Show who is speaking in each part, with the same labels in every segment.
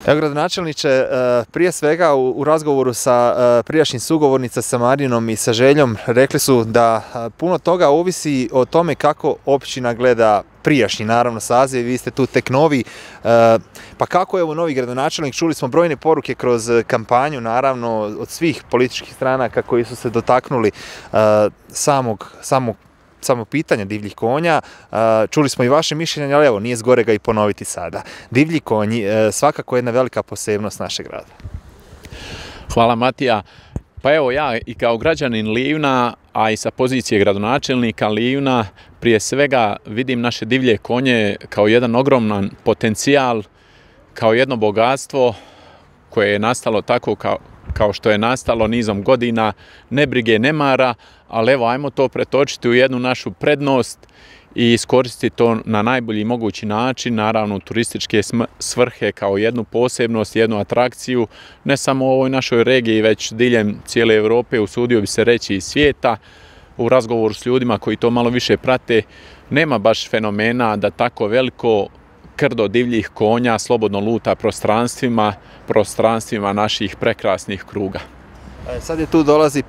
Speaker 1: Evo, gradonačelniče, prije svega u razgovoru sa prijašnjim sugovornica sa Marinom i sa Željom rekli su da puno toga ovisi o tome kako općina gleda prijašnji, naravno, saziv, vi ste tu tek novi, pa kako je ovo novi gradonačelnik? Čuli smo brojne poruke kroz kampanju, naravno, od svih političkih stranaka koji su se dotaknuli samo pitanja divljih konja. Čuli smo i vaše mišljenje, ali evo, nije zgorega i ponoviti sada. Divlji konji, svakako jedna velika posebnost našeg grada.
Speaker 2: Hvala, Matija. Pa evo, ja i kao građanin Livna, a i sa pozicije gradonačelnika Livna, prije svega vidim naše divlje konje kao jedan ogroman potencijal, kao jedno bogatstvo koje je nastalo tako kao što je nastalo nizom godina, nebrige, nemara, ali evo, ajmo to pretočiti u jednu našu prednost i iskoristiti to na najbolji mogući način, naravno u turističke svrhe kao jednu posebnost, jednu atrakciju, ne samo u ovoj našoj regiji, već diljem cijele Europe, usudio bi se reći i svijeta. U razgovoru s ljudima koji to malo više prate, nema baš fenomena da tako veliko krdo divljih konja slobodno luta prostranstvima naših prekrasnih kruga.
Speaker 1: Sad je tu dolazi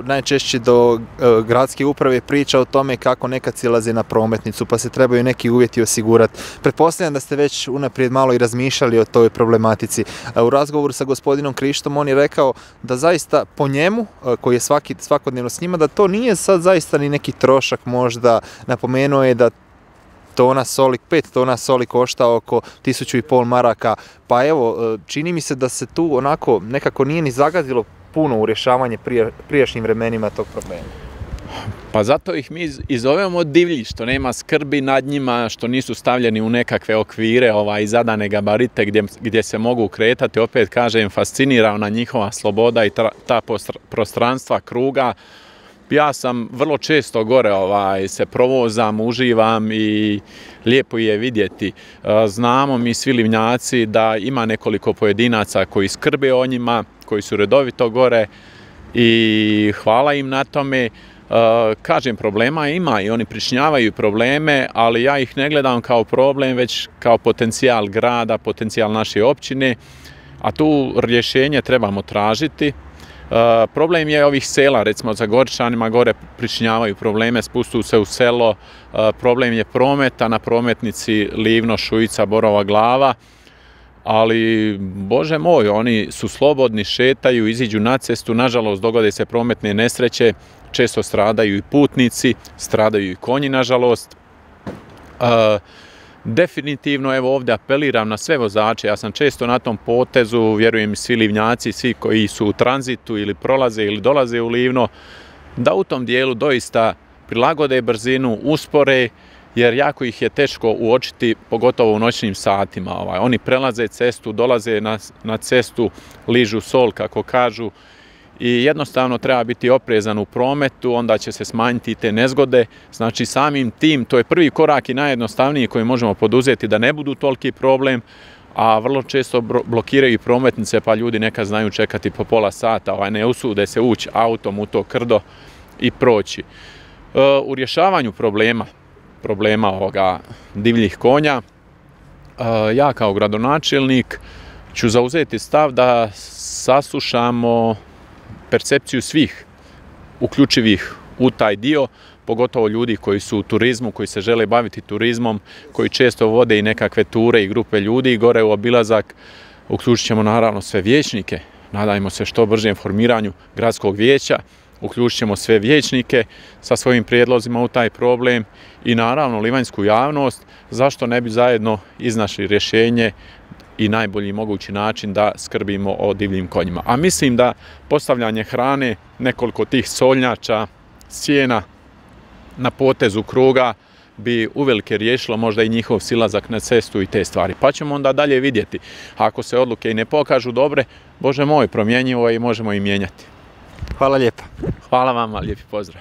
Speaker 1: najčešće do gradske uprave priča o tome kako nekad silaze na prometnicu, pa se trebaju neki uvjeti osigurati. Pretpostavljam da ste već unaprijed malo i razmišljali o toj problematici. U razgovoru sa gospodinom Krištom on je rekao da zaista po njemu, koji je svakodnevno s njima, da to nije sad zaista ni neki trošak možda. Napomenuo je da 5 tona soli košta oko 1500 maraka, pa evo, čini mi se da se tu onako nekako nije ni zagadilo puno u rješavanje prijašnjim vremenima tog problema.
Speaker 2: Pa zato ih mi i zovemo divlji, što nema skrbi nad njima, što nisu stavljeni u nekakve okvire i zadane gabarite gdje se mogu kretati. Opet kažem, fascinira ona njihova sloboda i ta prostranstva kruga. Ja sam vrlo često gore se provozam, uživam i lijepo je vidjeti. Znamo mi svi Livnjaci da ima nekoliko pojedinaca koji skrbe o njima, koji su redovito gore i hvala im na tome. Kažem, problema ima i oni pričinjavaju probleme, ali ja ih ne gledam kao problem, već kao potencijal grada, potencijal naše općine, a tu rješenje trebamo tražiti. Problem je ovih sela, recimo za Goričanima, gore pričinjavaju probleme, spustu se u selo, problem je prometa na prometnici Livno, Šujica, Borova Glava, ali, Bože moj, oni su slobodni, šetaju, iziđu na cestu, nažalost dogode se prometne nesreće, često stradaju i putnici, stradaju i konji, nažalost. Definitivno, evo, ovdje apeliram na sve vozače, ja sam često na tom potezu, vjerujem i svi Livnjaci, svi koji su u tranzitu ili prolaze ili dolaze u Livno, da u tom dijelu doista prilagode brzinu, uspore, jer jako ih je teško uočiti, pogotovo u noćnim satima. Oni prelaze cestu, dolaze na cestu, ližu sol, kako kažu, i jednostavno treba biti oprezan u prometu, onda će se smanjiti te nezgode. Znači, samim tim, to je prvi korak i najjednostavniji koji možemo poduzeti da ne budu toliki problem, a vrlo često blokiraju prometnice, pa ljudi nekad znaju čekati po pola sata, ne usude se ući autom u to krdo i proći. U rješavanju problema ovoga divljih konja, ja kao gradonačelnik ću zauzeti stav da saslušamo percepciju svih uključivih u taj dio, pogotovo ljudi koji su u turizmu, koji se žele baviti turizmom, koji često vode i nekakve ture i grupe ljudi gore u obilazak. Uključit ćemo naravno sve vijećnike, nadajmo se što bržem formiranju gradskog vijeća, uključit ćemo sve vijećnike sa svojim prijedlozima u taj problem i naravno livanjsku javnost, zašto ne bi zajedno iznašli rješenje i najbolji mogući način da skrbimo o divljim konjima. A mislim da postavljanje hrane, nekoliko tih solnjača, sjena na potezu kruga bi uvelike riješilo možda i njihov silazak na cestu i te stvari. Pa ćemo onda dalje vidjeti. Ako se odluke i ne pokažu dobre, Bože moj, promjenjivo je i možemo i mijenjati.
Speaker 1: Hvala lijepa.
Speaker 2: Hvala vama, lijepi pozdrav.